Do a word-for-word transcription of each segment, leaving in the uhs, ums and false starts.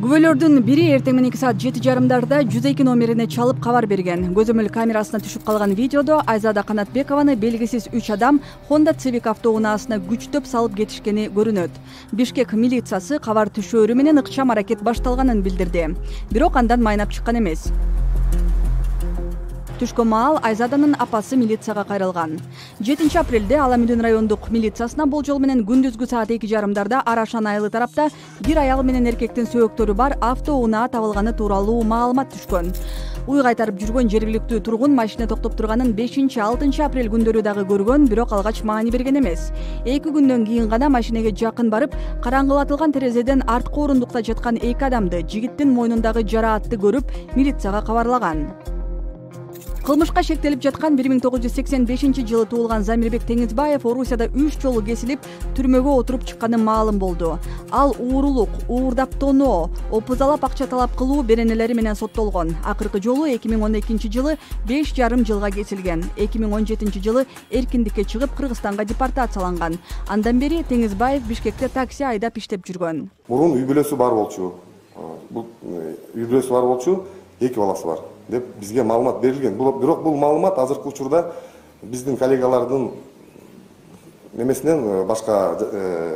Күбөлөрдүн бири эртең мененки саат жети жарымдарда жүз эки номерине чалып кабар берген. Көзөмөл камерасына түшүп калган видеодо Айзада Канатбекованы белгисиз үч адам Honda Civic автоунаасына күчтөп салып кетишкени көрүнөт. Бишкек милициясы кабар түшөөрү менен ыкчам аракет башталганын билдирди. Бирок андан майнап чыккан эмес. Түшкөн маал Айзаданын апасы милицияга кайрылган. жетинчи апрелде Ала Мүдүн райондук милициясына болжол менен күндүзгү саат эки жарымдарда Арашан айылы тарапта бир аял менен эркектин сөөктөрү бар автоунаа табылганы тууралуу маалымат түшкөн. Уй кайтарып жүргөн жергиликтүү тургун машина токтоп турганын бешинчи алтынчы апрель күндөрү дагы көргөн, бирок алгач маани берген эмес. Эки күндөн кийин гана машинеге жакын барып, караңгылатылган терезеден арткы орундукта жаткан эки адамды, жигиттин мойнундагы жараатты көрүп, милицияга кабарлаган. Кылмышка шектелип жаткан бир миң тогуз жүз сексен бешинчи жылы туулган Замирбек Теңизбаев Орусияда үч жолу кесилип, түрмөгө отуруп чыкканы маалым болду. Ал уурулук, уурдап тоноо, опузалап акча талап кылуу беренелери менен соттолгон. Акыркы жолу эки миң он экинчи жылы беш жарым жылга кесилген. эки миң он жетинчи жылы эркиндикке чыгып, Кыргызстанга депортацияланган. Андан бери Теңизбаев Бишкекте такси айдап иштеп жүргөн. Мурун үй бүлөсү бар болчу. Бул үй бүлөсү бар болчу, эки баласы бар деп бизге маалымат берилген. Бирок бул маалымат азыркы учурда биздин коллегалардын немесинен, башка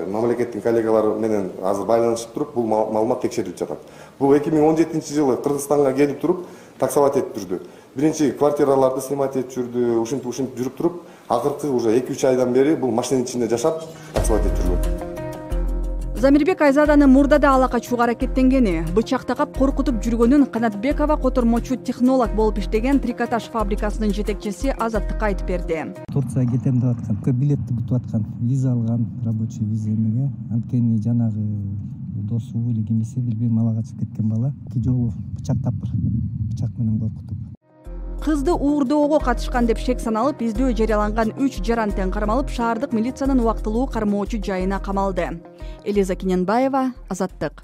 мамлекеттин коллегалары менен азыр байланышып туруп, бул маалымат текшерилип жатат. Бул эки миң он жетинчи жылы Кыргызстанга келип туруп, таксовать этип жүрдү. Биринчи квартираларды снимать этип жүрдү, ушинтип ушинтип жүрүп туруп, акыркы уже эки үч айдан бери бул машинанын ичинде жашап, таксовать этип жүргөн. Замирбек Айзаданы мурда да ала качууга аракеттенгени, бычак такап коркутуп жүргөнүн Канатбекова котормочу технолог болуп иштеген трикотаж фабрикасынын жетекчиси Азаттыкка айтып берди. Турцияга кетем деп аткан, билетти күтүп аткан, виза алган, рабочий виза эмеге. Анткени жанагы досу или кимиси билбейм, ала качып кеткен бала эки жолу бычактап, бычак менен коркутуп. Кызды уурдоого катышкан деп шек саналып, издөө жарыяланган үч жарантен кармалып, шаардык милициянын убактылуу кармоочу жайына камалды. Элиза Киненбаева, Азаттык.